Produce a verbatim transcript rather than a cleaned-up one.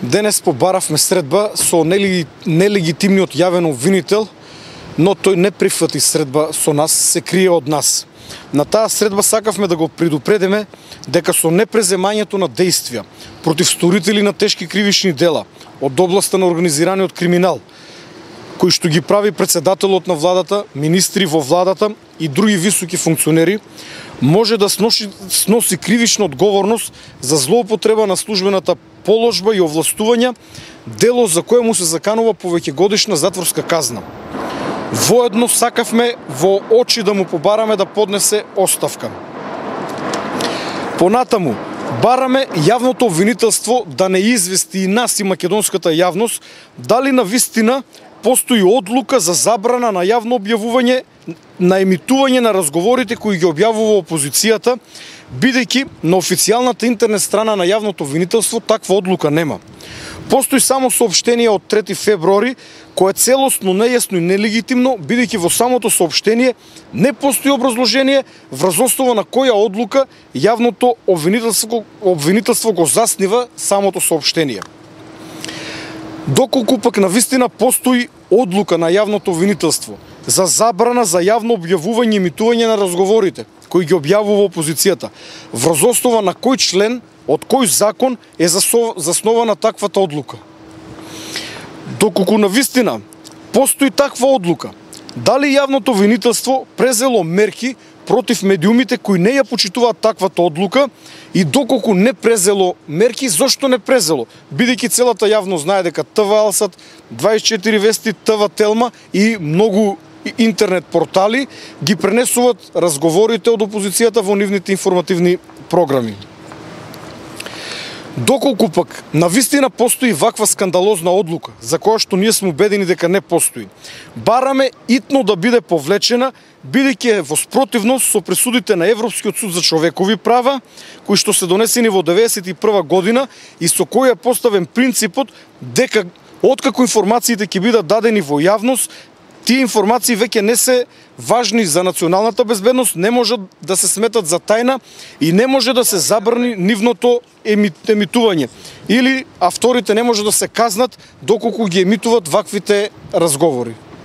Денес побаравме средба со нелегитимниот јавен обвинител, но тој не прифати средба со нас, се крие од нас. На таа средба сакавме да го предупредиме дека со непреземањето на действија против сторители на тешки кривични дела од областа на организираниот криминал, кои што ги прави председателот на владата, министри во владата и други високи функционери, може да сноси, сноси кривична одговорност за злоупотреба на службената положба и овластувања, дело за кое му се заканува повеќегодишна затворска казна. Воедно сакавме во очи да му побараме да поднесе оставка. Понатаму, бараме јавното обвинителство да не извести и нас и македонската јавност дали навистина постои одлука за забрана на јавно објавување на емитување на разговорите кои ги објавува опозицијата, бидејќи на официјалната интернет страна на јавното обвинителство таква одлука нема. Постои само соопштение од трети февруари, кое е целосно нејасно и нелегитимно, бидејќи во самото соопштение не постои образложение врз основа на која одлука јавното обвинителство, обвинителство го заснива самото соопштение. Доколку пак навистина постои одлука на јавното обвинителство за забрана за јавно објавување и емитување на разговорите кои ги објавува опозицијата, врз основа на кој член од кој закон е заснована таквата одлука. Доколку навистина постои таква одлука, дали јавното обвинителство презело мерки против медиумите кои не ја почитуваат таквата одлука и доколку не презело мерки, зошто не презело? Бидејќи целата јавност знае дека ТВ Алсат, дваесет и четири вести, ТВ Телма и многу интернет портали ги пренесуваат разговорите од опозицијата во нивните информативни програми. Доколку пак навистина постои ваква скандалозна одлука, за која што ние сме убедени дека не постои, бараме итно да биде повлечена, бидејќи е во спротивност со пресудите на Европскиот суд за човекови права, кои што се донесени во деветдесет и прва година и со кој е поставен принципот дека откако информациите ќе бидат дадени во јавност, тие информации веќе не се важни за националната безбедност, не можат да се сметат за тајна и не може да се забрани нивното емитување. Или авторите не може да се казнат доколку ги емитуваат ваквите разговори.